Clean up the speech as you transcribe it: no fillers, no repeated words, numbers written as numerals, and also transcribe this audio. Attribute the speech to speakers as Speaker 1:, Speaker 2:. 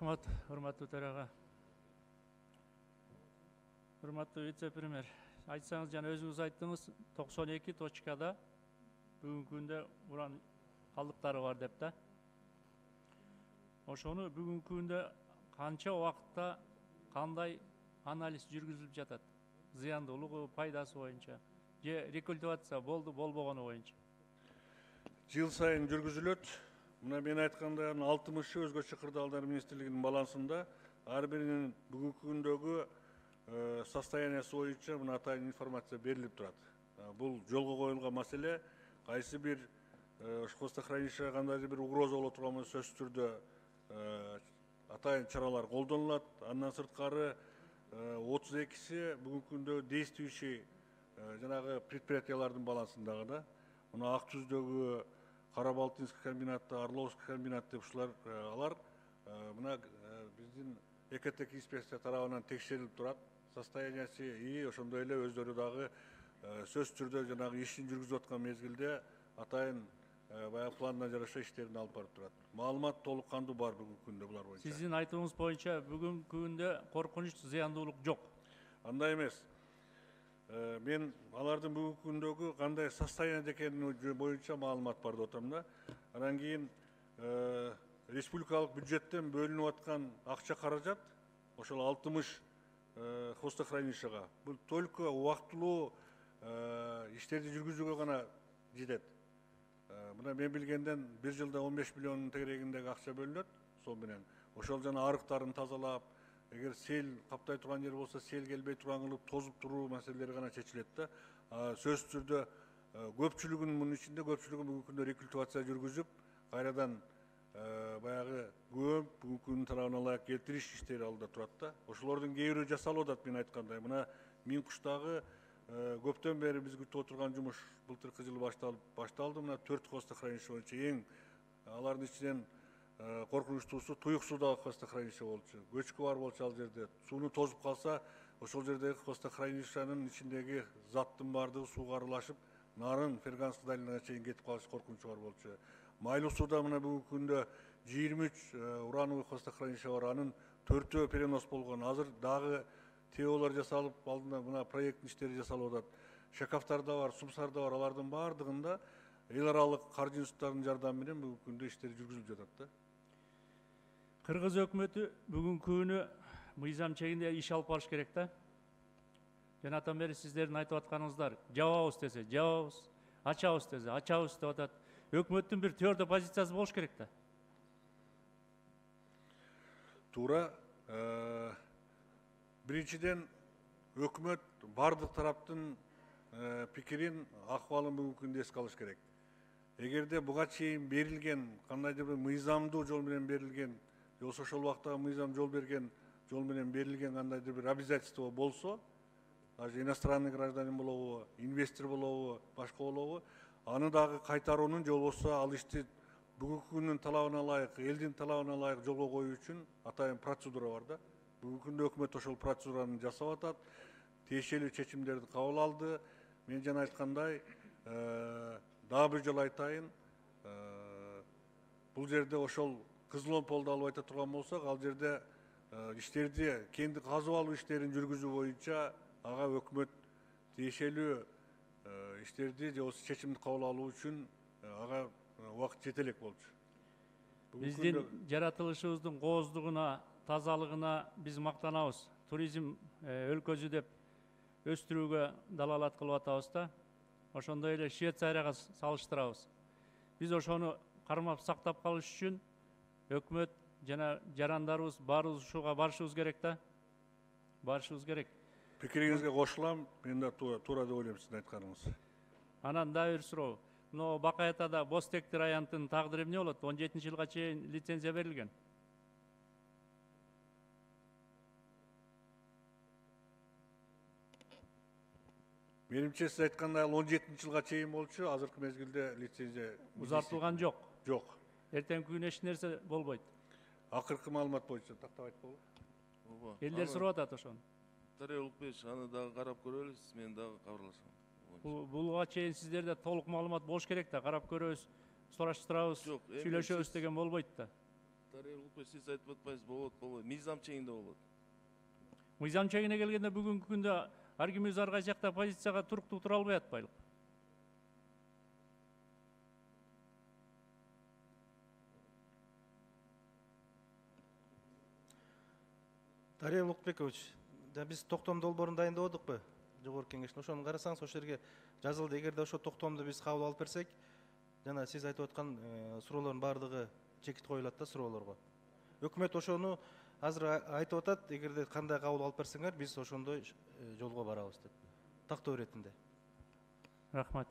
Speaker 1: Рахмат, урматтуу төрага. Урматтуу вице-премьер, айтсаңыз жана өзүңүз айттыңыз, 92 точкада бүгүнкү күндө уран калдыктары бар деп да. Ошону бүгүнкү күндө канча убакытта кандай анализ жүргүзүлүп жатат? Зыяндуулугу, пайдасы боюнча же рекультивация болду, болбогону боюнча?
Speaker 2: Жыл сайын жүргүзүлөт. Мына мен айткандай 60 өзгөчө кырдаалдар министрлигинин балансында ар биринин бүгүнкү күндөгү состояниясы боюнча мына атайын информация берилип турат. Бул жолго коюлган маселе. Кайсы бир хвостохранилищеге кандайдыр бир угроза боло турган болсо сөзсүз түрдө атайын чаралар колдонулат. Андан сырткары 32си бүгүнкү күндө действующий жанагы предприятиялардын балансындагы да. Мына Ак Түздөгү, Карабалтинский комбинаты, Орловский комбинат деп ушулар алар мына биздин ЭКТК инспекция тарабынан текшерилип турат. Состояниясы и ошондой эле өздөрү дагы сөзсүз түрдө жанагы ишин жүргүзүп аткан мезгилде атайын баягы планына жараша иштерин алып барып турат. Маалымат толук кандуу бар бүгүнкү күндө булар боюнча.
Speaker 1: Сиздин айтууңуз боюнча бүгүнкү күндө коркунуч, зыяндуулук жок.
Speaker 2: Андай эмес. Мен алардын бүгүнкү күндөгү кандай состоянияда экени боюнча маалымат бар деп атам да. Анан кийин республикалык бюджеттен бөлүнүп аткан акча каражат ошол 60 хвостохранилищега бул только убактылуу иштерди жүргүзүүгө гана жетет. Мына мен билгенден бир жылда 15 миллион тегерегиндеги акча бөлүнөт. Сол менен ошол жана арыктарын тазалап, эгер сел каптай турган жер болсо сел келбей турган кылып тозуп туруу маселелери гана чечилет да. Сөзсүз түрдө көпчүлүгүнүн мунун ичинде көпчүлүгү бүгүнкү күндө рекультивация жүргүзүп, кайрадан баягы көп бүгүнкү күндүн тарабына ылайык келтириш иштери алда турат да. Ошолордун кээ бирөө жасалып атат мен айткандай. Мына Миң Куштагы көптөн бери биз күтүп отурган жумуш былтыркы жылы башталды. Мына 4 хвостохранилище боюнча эң алардын ичинен коркунучтуусу Туюк суудагы хвостохранилище болчу. Көчкү бар болчу ал жерде. Сууну тозуп калса, ошол жердеги хвостохранилищенин ичиндеги заттын баардыгы сууга аралашып, нарын Ферганский долинага чейин кетип калыш коркунучу бар болчу. Майлуу сууда мына бүгүнкү күндө 23 урановый хвостохранилище бар. Анын 4-өө перенос болгон. Азыр дагы ТОлор жасалып, алдында мына проекттин иштери жасалып атат. Шакафтар да бар, сумсар да бар. Алардын баардыгында эл аралык каржы институттарынын жардамы менен бүгүнкү күндө иштери жүргүзүлүп жатат да.
Speaker 1: Кыргыз өкмөтү бүгүнкү күнү мыйзам чегинде иш алып барыш керек да. Жанатан бери сиздердин айтып атканыңыздар, жабабыз десе жабабыз, ачабыз десе ачабыз деп атат. Өкмөттүн бир твердо позициясы болуш керек да.
Speaker 2: Туура. Биринчиден өкмөт бардык тараптын пикирин, акыбалын бүгүнкү күндө эске алыш керек. Эгерде буга чейин берилген кандайдыр бир мыйзамдуу жол менен берилген, же болбосо ошол убактагы мыйзам жол берген жол менен берилген кандайдыр бир обязательство болсо, даже иностранный гражданин болобу, инвестор болобу, башка болобу, аны дагы кайтаруунун же болбосо ал ишти бүгүнкү күндүн талабына ылайык, элдин талабына ылайык жолго коюу үчүн атайын процедура бар да. Бүгүнкү күндө өкмөт ошол процедураны жасап атат, тиешелүү чечимдерди кабыл алды. Мен жана айткандай, дагы бир жолу айтайын, бул жерде ошол Кызыломполду алып айта турган болсок, ал жерде иштерди, кенди казып алуу иштерин жүргүзүү боюнча ага өкмөт тиешелүү иштерди же болбосо чечимди кабыл алуу үчүн ага убакыт жете элек болчу.
Speaker 1: Биздин жаратылышыбыздын кооздугуна, тазалыгына биз мактанабыз. Туризм өлкөсү деп өстүрүүгө далалат кылып атабыз да. Ошондой эле Швейцарияга салыштырабыз. Биз ошону кармап сактап калыш үчүн өкмөт жана жарандарыбыз баарыбыз ушуга барышыбыз керек да. Барышыбыз керек.
Speaker 2: Пикириңизге кошулам. Мен да туура деп ойлойм сиздин айтканыңыз.
Speaker 1: Анан дагы бир суроо. Мына Бакай Атада боз тектир аянттын тагдыры эмне болот? 17-жылга чейин лицензия берилген.
Speaker 2: Менимче сиз айткандай ал 17-жылга чейин болчу, азыркы мезгилде лицензия
Speaker 1: узартылган жок.
Speaker 2: Жок.
Speaker 1: Эртеңки күнү эч нерсе болбойт.
Speaker 2: Акыркы маалымат боюнча тактап айтпогула.
Speaker 1: Элдер сурап атат ошону.
Speaker 3: Дарья Улукбекович, аны дагы карап көрөлүбүз, мен дагы кабарлашам.
Speaker 1: Буга чейин сиздерде толук маалымат болуш керек да, карап көрөбүз, сураштырабыз, сүйлөшөбүз деген болбойт да.
Speaker 3: Дарья Улукбек, сиз айтып атпайсыз, болот. Мыйзам чегинде болот.
Speaker 1: Мыйзам чегине келгенде бүгүнкү күндө ар кимибиз ар кайсы жакта позицияга туруктуу тура албай атпайлык.
Speaker 4: Дарья Улукбекович, биз токтом долбоорун дайындабадыкпы? Жогорку кеңештин. Ошону карасаңыз, ошол жерге жазылды. Эгерде ошо токтомду биз кабыл алып берсек, жана сиз айтып аткан суроолордун баардыгы чекит коюлат да суроолорго. Өкмөт ошону азыр айтып атат, эгерде кандай кабыл алып берсеңер, биз ошондой жолго барабыз деп. Тактоо иретинде.
Speaker 1: Рахмат.